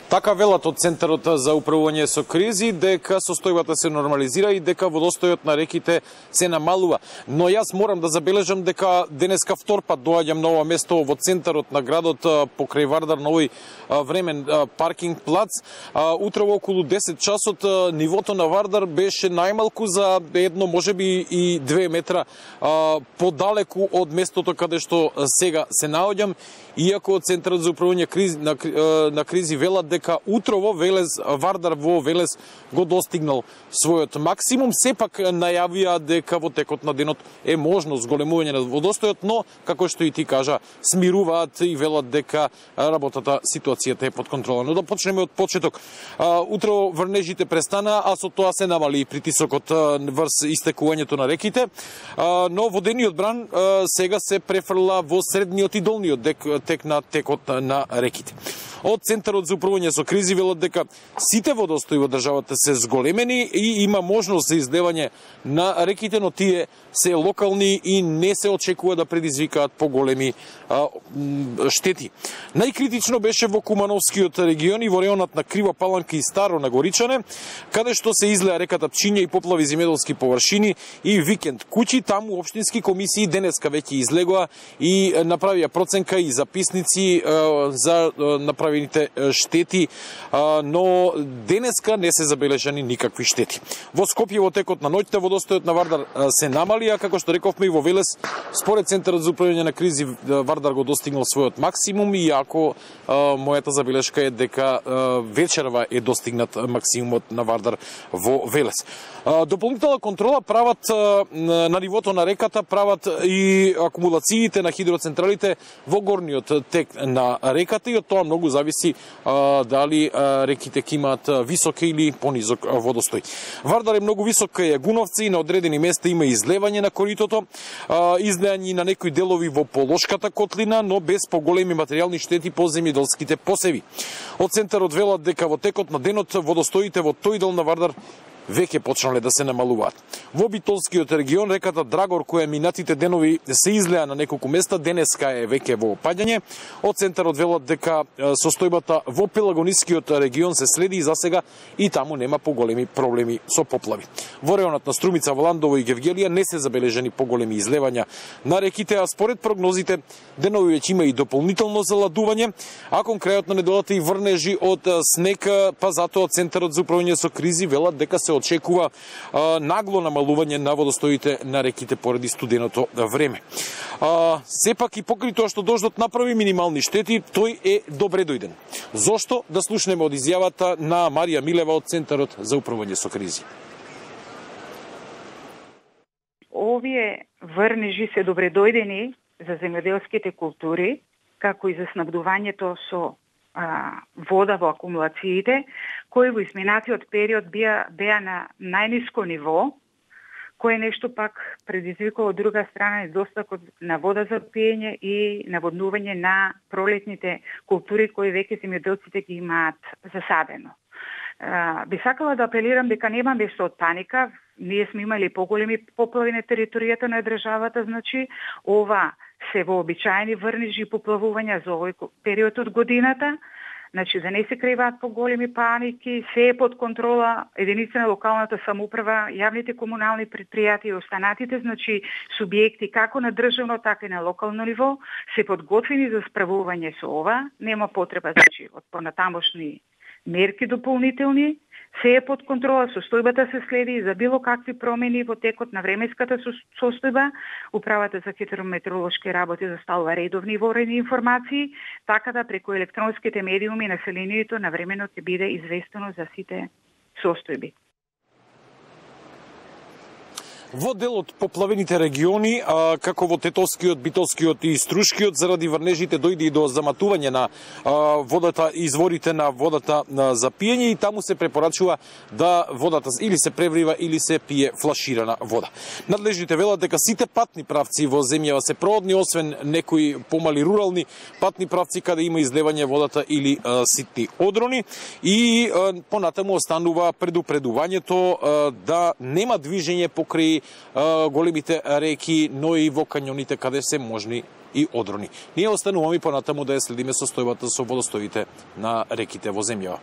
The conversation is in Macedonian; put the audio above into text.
Така велат од Центарот за управување со кризи дека состојбата се нормализира и дека водостојот на реките се намалува. Но јас морам да забележам дека денеска втор пат доаѓам на ова место во центарот на градот покрај Вардар на овој времен паркинг плац. Утрово околу 10 часот нивото на Вардар беше најмалку за едно, можеби и 2 метра подалеку од местото каде што сега се наоѓам, иако Центарот за управување на кризи велат дека утрово Вардар во Велес го достигнал својот максимум. Сепак најавија дека во текот на денот е можно зголемување на водостојот, но како што и ти кажа, смируваат и велат дека работата, ситуацијата е под контрола. Но да почнеме од почеток. Утрово врнежите престана, а со тоа се намали притисокот врз истекувањето на реките, но водениот бран сега се префрла во средниот и долниот тек на текот на реките. Од Центарот за управување со кризи велат дека сите водостои во државата се зголемени и има можност за излевање на реките, но тие се локални и не се очекува да предизвикаат поголеми штети. Најкритично беше во Кумановскиот регион и во реонот на Крива Паланка и Старо на Горичане, каде што се излеа реката Пчиња и поплави земјоделски површини и викенд куќи. Таму општински комисии денеска веќе излегоа и направија проценка и записници за направените штети, но денеска не се забележани никакви штети. Во Скопје во текот на ноќта водостојот на Вардар се намали, а како што рековме и во Велес, според Центарот за управување на кризи, Вардар го достигнал својот максимум, иако мојата забелешка е дека вечерва е достигнат максимумот на Вардар во Велес. Дополнителна контрола прават на нивото на реката, прават и акумулациите на хидроцентралите во горниот тек на реката и од тоа многу зависи дали реките ќе имаат висок или понизок водостој. Вардар е многу висок кај Гуновци и на одредени места има излевање на коритото, излеање на некои делови во Полошката котлина, но без поголеми материјални штети по земјоделските посеви. Од Центарот велат дека во текот на денот водостоите во тој дел на Вардар веќе почнале да се намалуваат. Во Битолскиот регион реката Драгор, која минатите денови се излеа на неколку места, денеска е веќе во опаѓање. Од Центарот велат дека состојбата во Пелагонискиот регион се следи и засега и таму нема поголеми проблеми со поплави. Во реонот на Струмица, Валандово и Гевгелија не се забележени поголеми излевања на реките, а според прогнозите денови веќе има и дополнително заладување, а кон крајот на неделата и врнежи од снег, па затоа Центарот за управување со кризи велат дека се очекува нагло намалување на водостоите на реките поради студеното време. Сепак и покрај тоа што дождот направи минимални штети, тој е добре дојден. Зошто? Да слушнеме од изјавата на Марија Милева од Центарот за управување со кризи. Овие врнежи се добредојдени за земјоделските култури, како и за снабдувањето со вода во акумулациите, кои во изминатиот период беа на најниско ниво, кое нешто пак предизвикува од друга страна недостатокот на вода за пиење и наводнување на пролетните култури кои веќе земјоделците ги имаат засадено. Би сакала да апелирам дека нема место од паника. Ние сме имали поголеми поплави на територијата на државата, значи ова се вообичаени врнежи и поплавувања за овој период од годината. Значи, да не се криваат поголеми паники, се е под контрола единица на локалната самоуправа, јавните комунални предпријатија и останатите, значи субјекти како на државно, така и на локално ниво, се подготвени за справување со ова. Нема потреба, значи, од понатамошни мерки дополнителни, се е под контрола, состојбата се следи и за било какви промени во текот на временската состојба. Управата за хидрометеоролошки работи заставува редовни и ворени информации, така да преку електронските медиуми населението навремено ќе биде известено за сите состојби. Во дел од поплавените региони, како во Тетовскиот, Битолскиот и Струшкиот, заради врнежите дојде и до заматување на водата, изворите на водата за пиење и таму се препорачува да водата или се преврива или се пие флаширана вода. Надлежните велат дека сите патни правци во земјава се проводни, освен некои помали рурални патни правци каде има излевање водата или ситни одрони и понатаму останува предупредувањето да нема движење покрај заради големите реки, но и во кањоните каде се можни и одрони. Ние остануваме понатаму да ја следиме состојбата со водостоите на реките во земјава.